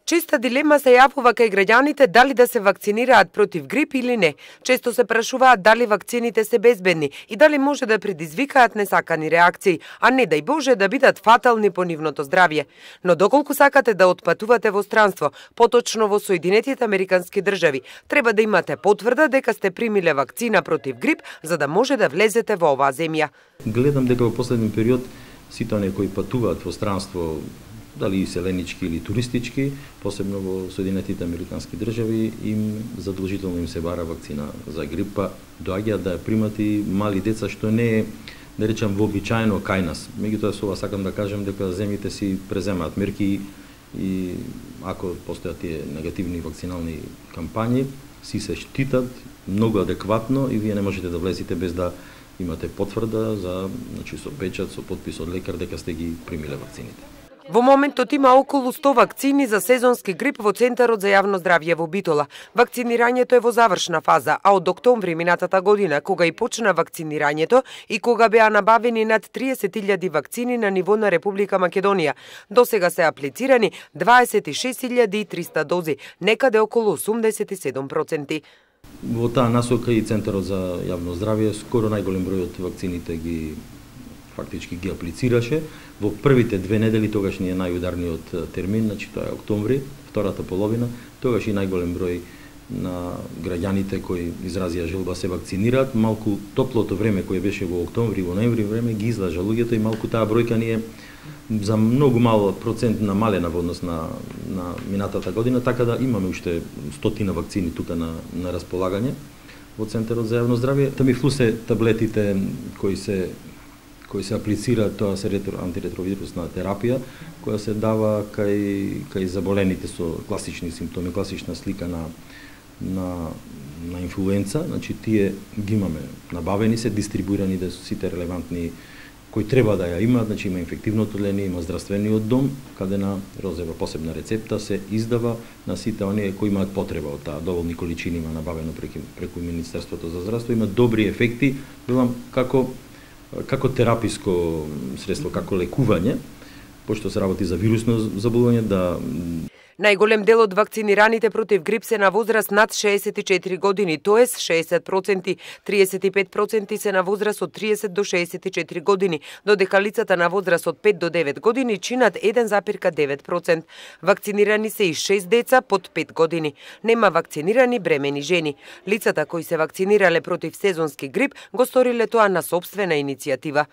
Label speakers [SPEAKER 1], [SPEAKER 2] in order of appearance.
[SPEAKER 1] Честа дилема се јавува кај граѓаните дали да се вакцинираат против грип или не. Често се прашуваат дали вакцините се безбедни и дали може да предизвикаат несакани реакции, а не дај Боже да бидат фатални по нивното здравје. Но доколку сакате да отпатувате во странство, поточно во Соединетите Американски држави, треба да имате потврда дека сте примиле вакцина против грип за да може да влезете во оваа земја.
[SPEAKER 2] Гледам дека во последен период сите оние кои патуваат во странство, дали иселенички или туристички, посебно во Соединетите Американски држави, им задолжително им се бара вакцина за грипа, доаѓаат да ја примат и мали деца, што не е, да речам, вообичаено кај нас. Меѓутоа со ова сакам да кажам дека земјите си преземаат мерки и ако постојат тие негативни вакцинални кампањи, си се штитат многу адекватно и вие не можете да влезете без да имате потврда за, значи, со печат, со подпис од лекар дека сте ги примиле вакцините.
[SPEAKER 1] Во моментот има околу 100 вакцини за сезонски грип во Центарот за јавно здравје во Битола. Вакцинирањето е во завршна фаза, а од октомври минатата година, кога и почна вакцинирањето и кога беа набавени над 30.000 вакцини на ниво на Република Македонија, досега се аплицирани 26.300 дози, некаде околу 87%.
[SPEAKER 2] Во таа насока и Центарот за јавно здравје скоро најголем број од вакцините фактички ги аплицираше. Во првите 2 недели, тогаш ни е најударниот термин, значи тоа е октомври, втората половина, тогаш и најголем број на граѓаните кои изразија желба се вакцинираат. Малку топлото време кое беше во октомври и во ноември време ги излажа луѓето и малку таа бројка ни е за многу мал процент намалена во однос на минатата година, така да имаме уште 100 вакцини тука на располагање во Центарот за јавно здравје. Тамифлу се таблетите кои се аплицираат, тоа се антиретровирусна терапија, која се дава кај заболените со класични симптоми, класична слика на инфлуенца, значи тие ги имаме набавени се, дистрибуирани да сите релевантни кои треба да ја имаат, значи има инфективното одделение, има здравствениот дом, каде на розова посебна рецепта се издава на сите оние кои имаат потреба од таа, доволни количини има набавено преку Министерството за здравство, има добри ефекти, велам како тераписко средство, како лекување, пошто се работи за вирусно заболување,
[SPEAKER 1] Најголем дел од вакцинираните против грип се на возраст над 64 години, тоест 60%, 35% се на возраст од 30 до 64 години, додека лицата на возраст од 5 до 9 години чинат 1,9%. Вакцинирани се и 6 деца под 5 години. Нема вакцинирани бремени жени. Лицата кои се вакцинирале против сезонски грип го сториле тоа на сопствена иницијатива.